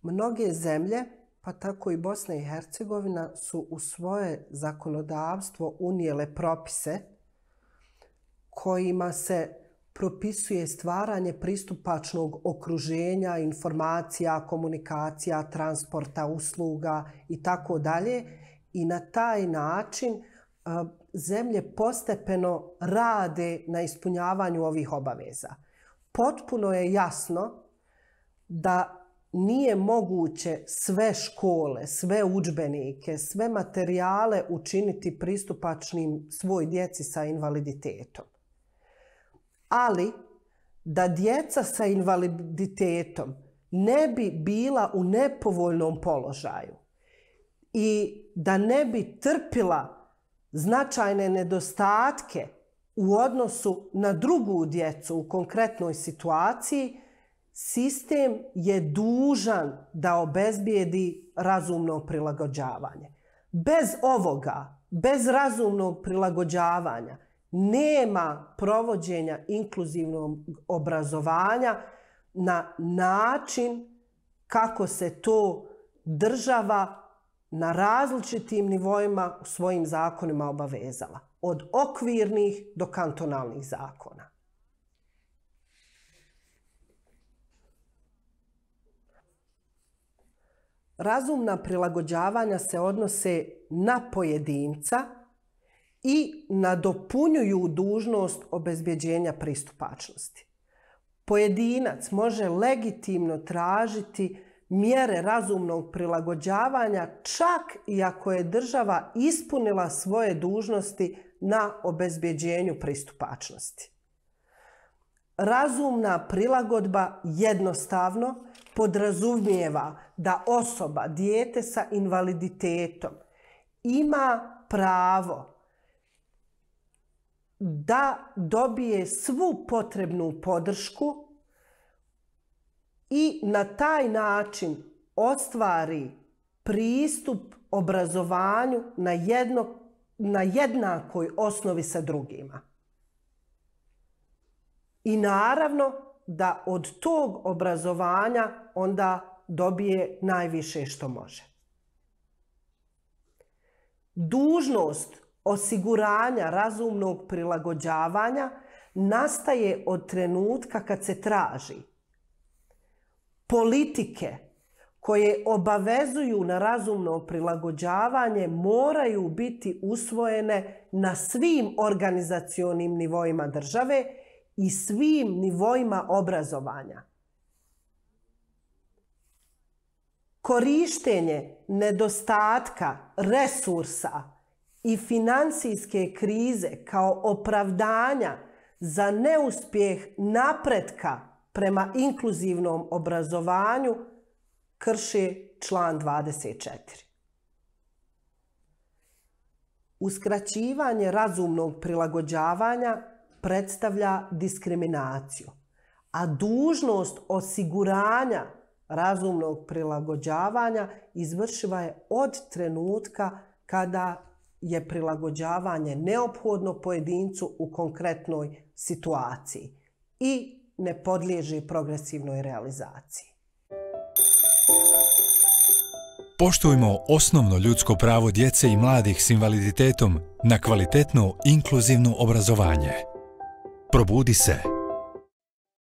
Mnoge zemlje, pa tako i Bosna i Hercegovina, su u svoje zakonodavstvo unijele propise kojima se propisuje stvaranje pristupačnog okruženja, informacija, komunikacija, transporta, usluga i tako dalje. I na taj način zemlje postepeno rade na ispunjavanju ovih obaveza. Potpuno je jasno da nije moguće sve škole, sve udžbenike, sve materijale učiniti pristupačnim svoj djeci sa invaliditetom. Ali da djeca sa invaliditetom ne bi bila u nepovoljnom položaju i da ne bi trpila značajne nedostatke u odnosu na drugu djecu u konkretnoj situaciji, sistem je dužan da obezbijedi razumno prilagođavanje. Bez ovoga, bez razumnog prilagođavanja, nema provođenja inkluzivnog obrazovanja na način kako se to država na različitim nivoima u svojim zakonima obavezala. Od okvirnih do kantonalnih zakona. Razumna prilagođavanja se odnose na pojedinca i nadopunjuju dužnost obezbeđenja pristupačnosti. Pojedinac može legitimno tražiti mjere razumnog prilagođavanja čak i ako je država ispunila svoje dužnosti na obezbeđenju pristupačnosti. Razumna prilagodba jednostavno podrazumijeva da osoba, dijete sa invaliditetom, ima pravo da dobije svu potrebnu podršku i na taj način ostvari pristup obrazovanju na jednakoj osnovi sa drugima. I naravno da od tog obrazovanja onda dobije najviše što može. Dužnost osiguranja razumnog prilagođavanja nastaje od trenutka kad se traži politike koje obavezuju na razumno prilagođavanje moraju biti usvojene na svim organizacionim nivoima države i svim nivoima obrazovanja. Korištenje nedostatka resursa i financijske krize kao opravdanja za neuspjeh napretka prema inkluzivnom obrazovanju krši član 24. Uskraćivanje razumnog prilagođavanja predstavlja diskriminaciju, a dužnost osiguranja razumnog prilagođavanja izvršiva je od trenutka kada je prilagođavanje neophodno pojedincu u konkretnoj situaciji i ne podliježi progresivnoj realizaciji. Poštujmo osnovno ljudsko pravo djece i mladih s invaliditetom na kvalitetno inkluzivno obrazovanje. Probudi se.